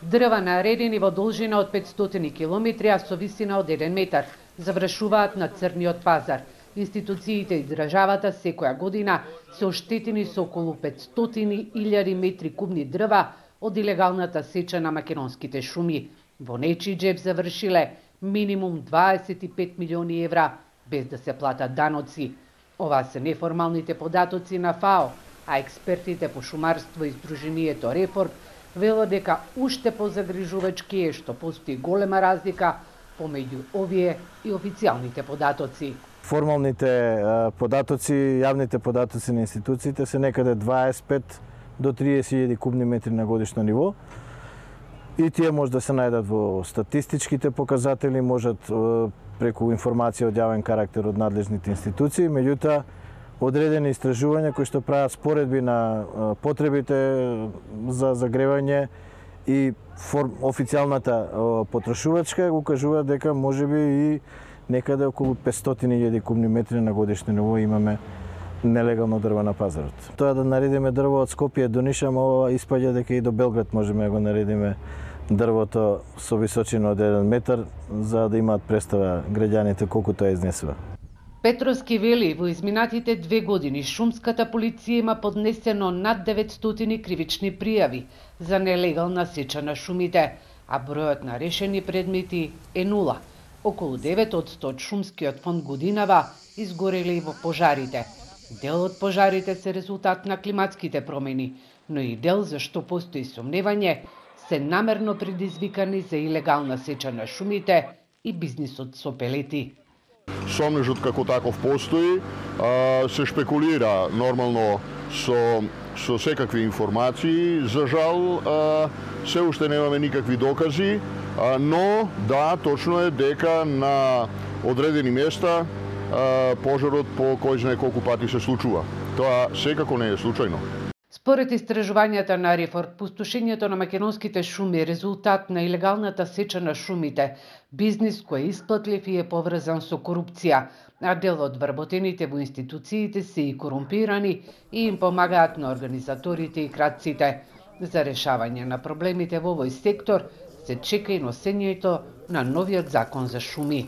Дрва наредени во должина од 500 километри, а со висина од 1 метар, завршуваат на црниот пазар. Институциите и државата секоја година се оштетени со околу 500.000 метри кубни дрва од илегалната сеча на македонските шуми. Во нечи џеб завршиле минимум 25 милиони евра, без да се платат даноци. Ова се неформалните податоци на ФАО, а експертите по шумарство и Сдруженијето Рефорд велат дека уште позагрижувачки е што постои голема разлика помеѓу овие и официјалните податоци. Формалните податоци, јавните податоци на институциите се некаде 25 до 30.000 кубни метри на годишно ниво. И тие може да се најдат во статистичките показатели, можат преку информација од јавен карактер од надлежните институции, меѓутоа одредени истражувања кои што прават споредби на потребите за загревање и официјалната потрошувачка укажуваат дека можеби и некаде околу 500.000 кубни метри на годишно ниво имаме нелегално дрво на пазарот. Тоа да наредиме дрво од Скопје до Ниша, ова испаѓа дека и до Белград можеме да го наредиме дрвото со височина од 1 метар, за да имаат представа граѓаните колку тоа изнесува. Петровски вели, во изминатите 2 години шумската полиција има поднесено над 900 кривични пријави за нелегална сеча на шумите, а бројот на решени предмети е 0. Околу 9% од шумскиот фонд годинава изгореле и во пожарите. Дел од пожарите се резултат на климатските промени, но и дел зашто постои сомневање се намерно предизвикани за илегална сеча на шумите и бизнисот со пелети. Сомнежот како таков постои, се шпекулира нормално со секакви информации. За жал, се уште немаме никакви докази, но да, точно е дека на одредени места пожарот по кој знае колку пати се случува. Тоа секако не е случајно. Според истражувањата на Рефорд, пустошењето на македонските шуми е резултат на илегалната сеча на шумите, бизнис кој е исплатлив и е поврзан со корупција, а дел од вработените во институциите се и корумпирани и им помагаат на организаторите и крадците. За решавање на проблемите во овој сектор се чека и носењето на новиот закон за шуми.